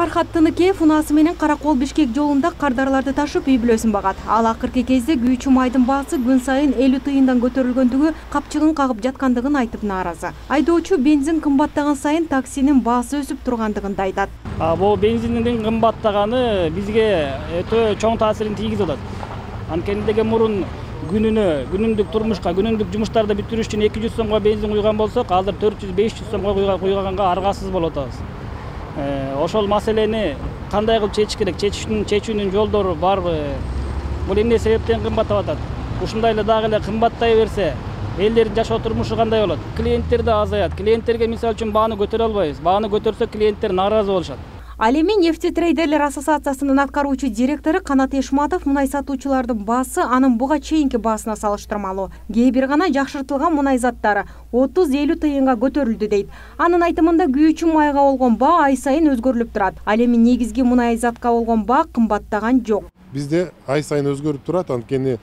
Фархат Тыныкеев унаасы менен Каракол Бишкек жолунда кардарларды ташып үй бүлөсүн багат. Ал акыркы кезде күйүүчү майдын баасы күн сайын 50 тыйындан көтөрүлгөндүгү капчыгын кагып жаткандыгын айтып нааразы. Айдоочу бензин кымбаттаган сайын таксинин баасы өсүп тургандыгын да айтат. Бул бензиндин кымбаттаганы бизге өтө чоң таасирин тийгизип атат. Анткени деген мурун күнүндүк турмушка, күнүндүк жумуштарды бүтүрүш үчүн 200 сомго бензин куйган болсок, азыр 400-500 сомго куйганга аргасыз болуп атабыз. Ошол маселени кандай кылып чечиш керек? Чечүүнүн жолдору барбы? Бул эмне себептен кымбаттап атат? Ушундай эле дагы эле кымбаттай берсе, элдердин жашоо турмушу кандай болот? Клиенттер да азаят. Клиенттерге мисалы үчүн бааны көтөрө албайбыз. Бааны көтөрсөк, клиенттер нааразы болушат. Ал эми нефтетрейдерлер ассоциациясынын аткаруучу директору Канат Эшматов мунай сатуучулардын баасы анын буга чейинки баасына салыштырмалуу. Кээ бир гана жакшыртылган мунай заттары 30-50 тыйынга көтөрүлдү дейт. Анын айтымында күйүүчү майга болгон баа ай сайын өзгөрүлүп турат. Ал эми негизги мунай затка болгон баа кымбаттаган жок. Бизде ай сайын өзгөрүп турат, анткени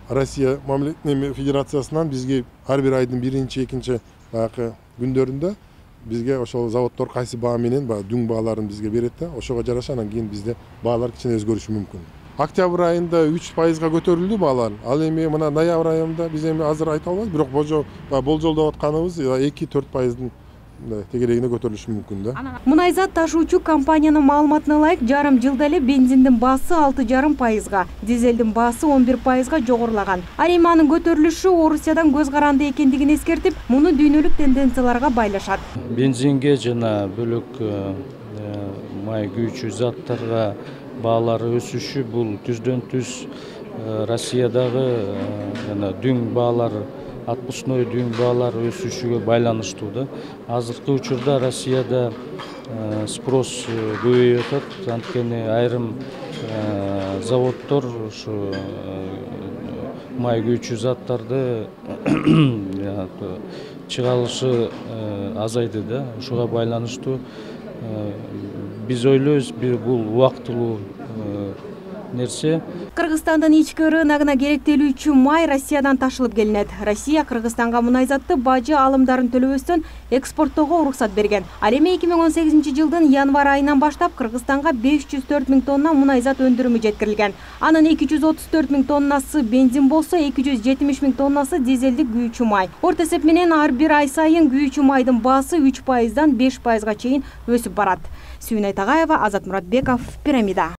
Россия Мамлекеттик Федерациясынан бизге ар бир айдын 1-2 күндөрүндө бизге ошол заводдор кайсы баа менен дүң бааларын бизге берет да, ошого жараша анан кийин бизде баалар кичине өзгөрүшү мүмкүн. Октябрь айында 3% көтөрүлдү баалар. Ал эми мына ноябрь айында биз эми азыр айта албайбыз, бирок болжолдоп атканыбыз 2-4% тегерегине көтөрүлүшү мүмкүн да. Мунайзат ташуучу компаниянын маалыматына ылайык, жарым жылда эле бензиндин баасы 6,5%, дизелдин баасы 11%га жогорулаган. Ал эми анын көтөрүлүшү Орусиядан көз каранды экендигин эскертип, муну дүйнөлүк тенденцияларга байлашат. Бензинге жана бөлөк май күйүүчү заттарга баалары өсүшү бул түздөн-түз Россиядагы жана дүң баалары, отпускной дүң баалары өсүшүгө байланыштуу да. Азыркы учурда Россияда спрос көбөйүп атат, анткени айрым заводдор ушу май күйүүчү заттарды чыгарылышы азайды да. Ушуга байланыштуу биз ойлойбуз, бул убактылуу нерсе. Кыргызстандын ички рыногуна керектелүүчү май Россиядан ташылып келинет. Россия Кыргызстанга мунайзатты бажы алымдарын төлөбөстөн экспорттоого уруксат берген. Ал эми 2018-жылдын январь айынан баштап Кыргызстанга 504 000 тонна мунайзат өндүрүмү жеткирилген. Анын 234 000 тоннасы бензин болсо, 270 000 тоннасы дизелдик күйүүчү май. Орто эсеп менен ар бир ай сайын күйүүчү майдын баасы 3%-дан 5%га чейин өсүп барат. Сүйүнай Тагаева, Азат Муратбеков, Пирамида.